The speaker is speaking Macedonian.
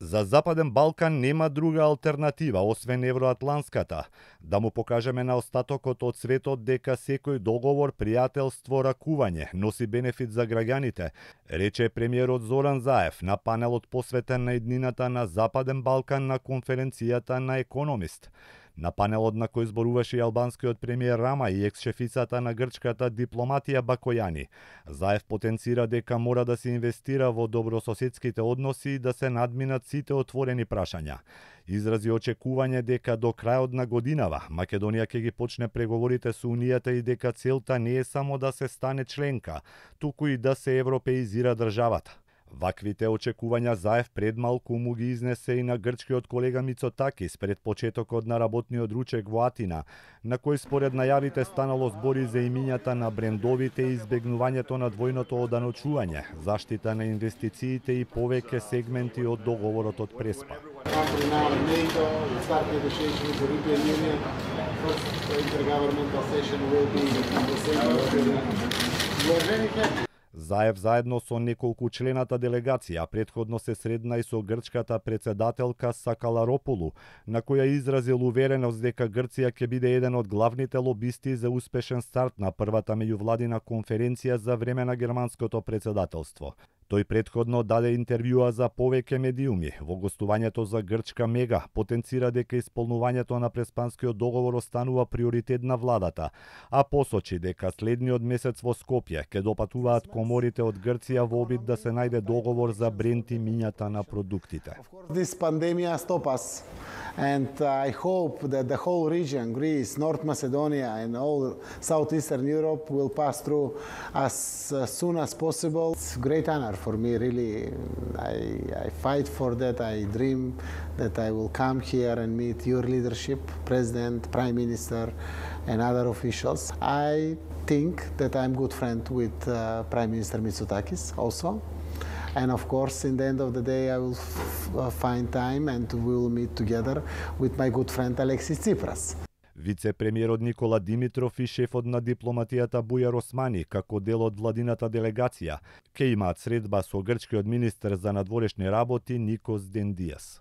За Западен Балкан нема друга алтернатива освен евроатланската. Да му покажеме на остатокот од светот дека секој договор, пријателство, ракување носи бенефит за граѓаните, рече премиерот Зоран Заев на панелот посветен на иднината на Западен Балкан на конференцијата на Економист. На панелот на кој зборуваше и албанскиот премиер Рама и екс-шефицата на грчката дипломатија Бакојани, Заев потенцира дека мора да се инвестира во добрососедските односи и да се надминат сите отворени прашања. Изрази очекување дека до крајот на годинава Македонија ќе ги почне преговорите со Унијата и дека целта не е само да се стане членка, туку и да се европеизира државата. Ваквите очекувања Заев пред малку му ги изнесе и на грчкиот колега Мицотакис пред почетокот на работниот ручек во Атина, на кој според најавите станало збори за имињата на брендовите и избегнувањето на двојното оданочување, заштита на инвестициите и повеќе сегменти од договорот од Преспа. Заев заедно со неколку члената делегација претходно се средна и со грчката председателка Сакаларополу, на која изразил увереност дека Грција ќе биде еден од главните лобисти за успешен старт на првата меѓувладина конференција за време на германското председателство. Тој претходно даде интервјуа за повеќе медиуми. Во гостувањето за Грчка Мега потенцира дека исполнувањето на Преспанскиот договор останува приоритет на владата, а посочи дека следниот месец во Скопје ќе допатуваат коморите од Грција во обид да се најде договор за бренд и мињата на продуктите. This pandemic stop us, and I hope that the whole region, Greece, North Macedonia, and all Southeastern Europe will pass through as soon as possible. It's a great honor for me, really. I fight for that. I dream that I will come here and meet your leadership, President, Prime Minister, and other officials. I think that I'm a good friend with Prime Minister Mitsotakis also. And of course, in the end of the day, I will find time and we will meet together with my good friend Alexis Tsipras. Вице-премиерот Никола Димитров и шефот на дипломатијата Бујар Османи, како дел од владината делегација, ќе имаат средба со грчкиот министер за надворешни работи Никос Дендијас.